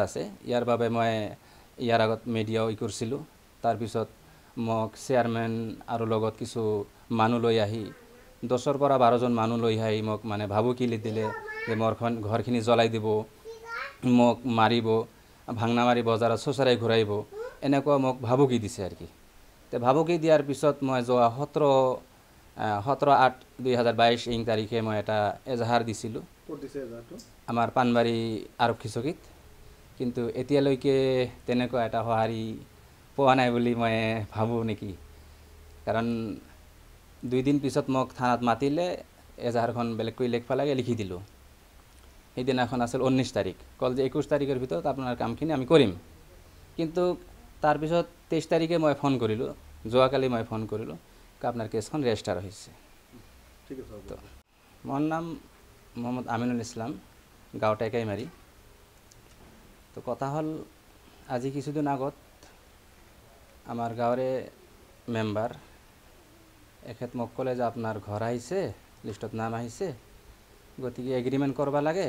আছে। ইয়াৰ বাবে মই ইয়াৰ আগত মিডিয়াও ই কৰিছিলোঁ। তাৰপিছত মোক চেয়াৰমেন আৰু লগত কিছু মানুহ লৈ আহি 10ৰ পৰা 12জন মানুহ লৈ আহি মোক মানে ভাবুকি দিলে যে মোৰ ঘৰখিনি জ্বলাই দিব, মোক মাৰিব, ভাংনামাৰি বজাৰত চোঁচৰাই ঘূৰাইব, এনেকুৱা মোক ভাবুকি দিছে আৰু কি। তে ভাবুকি দিয়াৰ পিছত মই যোৱা 17/8/2022 ইং তাৰিখে মই এটা এজাহাৰ দিছিলোঁ আমাৰ পাণবাৰী আৰক্ষী চকীত। কিন্তু এতিয়ালৈকে তেনেকুৱা এটা সঁহাৰি পোৱা নাই বুলি মই ভাবোঁ নেকি, কাৰণ 2 দিন পিছত মোক থানাত মাতিলে, এজাহাৰখন বেলেগকৈ লিখিব লাগে, লিখি দিলোঁ। সেইদিনাখন আছিল 19 তাৰিখ, ক'ল যে 21 তাৰিখৰ ভিতৰত আপোনাৰ কামখিনি আমি কৰিম। কিন্তু তাৰপিছত 23 তাৰিখে মই ফোন কৰিলোঁ, যোৱাকালি মই ফোন কৰিলোঁ, আপোনাৰ কেছখন ৰেজিষ্টাৰ হৈছে। ঠিক আছে। তো মোৰ নাম মহম্মদ আমিনুল ইছলাম, গাঁও টেকাইমাৰী। তো কথা হ'ল, আজি কিছুদিন আগত আমাৰ গাঁৱৰে মেম্বাৰ এখেত মোক ক'লে যে আপোনাৰ ঘৰ আহিছে, লিষ্টত নাম আহিছে, গতিকে এগ্ৰিমেণ্ট কৰিব লাগে,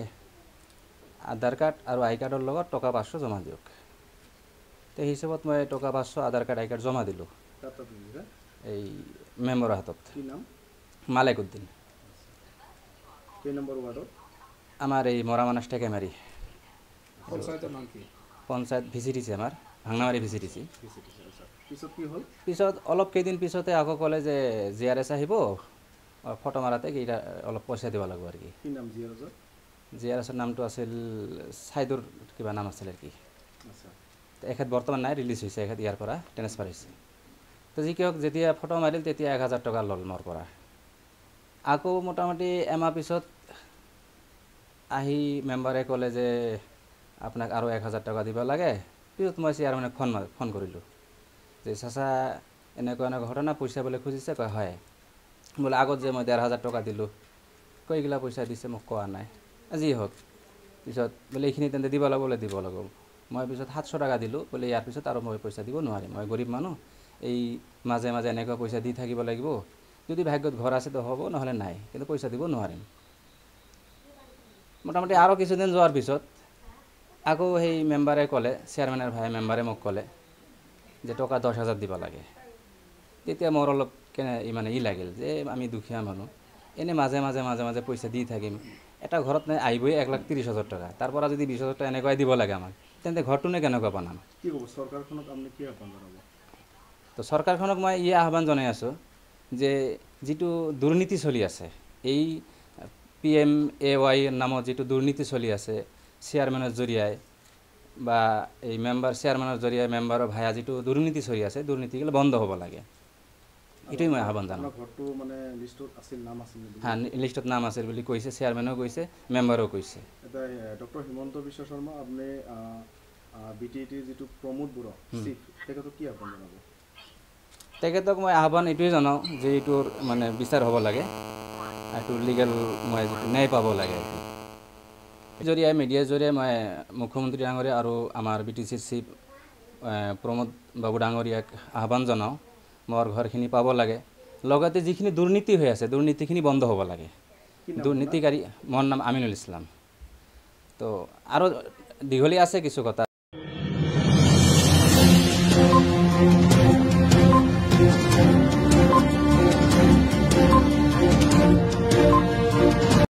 আধাৰ কাৰ্ড আৰু আই কাৰ্ডৰ লগত টকা 500 জমা দিয়ক। তে সেই হিচাপত মই টকা 500, আধাৰ কাৰ্ড, আই কাৰ্ড জমা দিলোঁ এই মেম্বাৰৰ হাতত। কি নাম? মালেক উদ্দিন। কেই নম্বৰ ৱাৰ্ডত? আমাৰ এই মৰামানাস টেকাইমাৰী। পঞ্চায়তৰ নাম কি? পঞ্চায়ত ভিচিডিচি, আমাৰ ভাংনামাৰী ভিচিডিচি। পিছত কি হ'ল? পিছত অলপ কেইদিন পিছতে আকৌ ক'লে যে জি আৰ এছ আহিব, ফটো মাৰাতে কেইটা অলপ পইচা দিব লাগিব আৰু কি। কি নাম জি আৰ এছৰ? জি আৰ এছৰ নামটো আছিল চাইদুৰ কিবা নাম আছিল আৰু কি। এখেত বৰ্তমান নাই, ৰিলিজ হৈছে, এখেত ইয়াৰ পৰা ট্ৰেন্সফাৰ হৈছে। তো যি কি হওক, যেতিয়া ফটো মাৰিল তেতিয়া 1000 টকা ল'ল মোৰ পৰা। আকৌ মোটামুটি এমাহ পিছত আহি মেম্বাৰে ক'লে যে আপোনাক আৰু 1000 টকা দিব লাগে। পিছত মই চেয়াৰমেনক ফোন কৰিলোঁ যে চাচা এনেকুৱা এনেকুৱা ঘটনা, পইচা বোলে খুজিছে। কয় হয়। বোলে আগত যে মই 1500 টকা দিলোঁ, কয়গিলা পইচা দিছে মোক কোৱা নাই। যি হওক, পিছত বোলে এইখিনি তেন্তে দিব লাগিব, বোলে দিব লাগিব। মই পিছত 700 টকা দিলোঁ, বোলে ইয়াৰ পিছত আৰু মই পইচা দিব নোৱাৰিম, মই গৰীব মানুহ, এই মাজে মাজে এনেকুৱা পইচা দি থাকিব লাগিব, যদি ভাগ্যত ঘৰ আছে তো হ'ব, নহ'লে নাই, কিন্তু পইচা দিব নোৱাৰিম। মোটামুটি আৰু কিছুদিন যোৱাৰ পিছত আকৌ সেই মেম্বাৰে ক'লে, চেয়াৰমেনৰ ভাই মেম্বাৰে মোক ক'লে যে টকা 10,000 দিব লাগে। তেতিয়া মোৰ অলপ কেনে মানে ই লাগিল যে আমি দুখীয়া মানুহ, এনেই মাজে মাজে মাজে মাজে পইচা দি থাকিম, এটা ঘৰত নাই আহিবই 1,30,000 টকা, তাৰ পৰা যদি 20,000 টকা এনেকুৱাই দিব লাগে আমাক, তেন্তে ঘৰটোনে কেনেকুৱা বনাম? কি ক'ব চৰকাৰখনক আপুনি, কি আহ্বান জনাব? তো চৰকাৰখনক মই এই আহ্বান জনাই আছোঁ যে যিটো দুৰ্নীতি চলি আছে, এই PMAY নামত যিটো দুৰ্নীতি চলি আছে, চেয়াৰমেনৰ জৰিয়াই বা এই মেম্বাৰ চেয়াৰমেনৰ জৰিয়াই মেম্বাৰৰ ভায়া যিটো দুৰ্নীতি চলি আছে, দুৰ্নীতিগিলা বন্ধ হ'ব লাগে, এইটোৱেই মই আহ্বান জনাওঁ। ঘৰটো মানে লিষ্টত আছিল, নাম আছিল? হা, লিষ্টত নাম আছিল বুলি কৈছে, চেয়াৰমেনেও কৈছে, মেম্বাৰেও কৈছে। এতিয়া ডক্টৰ হিমন্ত বিশ্ব শৰ্মা, আপুনি বি টি টিৰ যিটো প্ৰমোদ বড়ো চিফ, তেখেতক কি আহ্বান জনাব? তেখেতক মই আহ্বান এইটোৱে জনাওঁ যে এইটোৰ মানে বিচাৰ হ'ব লাগে, এইটো লিগেল মই যিটো ন্যায় পাব লাগে। জৰিয়াই মিডিয়াৰ জৰিয়ে মই মুখ্যমন্ত্ৰী ডাঙৰীয়া আৰু আমাৰ বি টি চিৰ চিফ প্ৰমোদ বাবু ডাঙৰীয়াক আহ্বান জনাওঁ, মোৰ ঘৰখিনি পাব লাগে, লগতে যিখিনি দুৰ্নীতি হৈ আছে দুৰ্নীতিখিনি বন্ধ হ'ব লাগে। দুৰ্নীতিকাৰী, মোৰ নাম আমিনুল ইছলাম। তো আৰু দীঘলীয়া আছে কিছু কথা।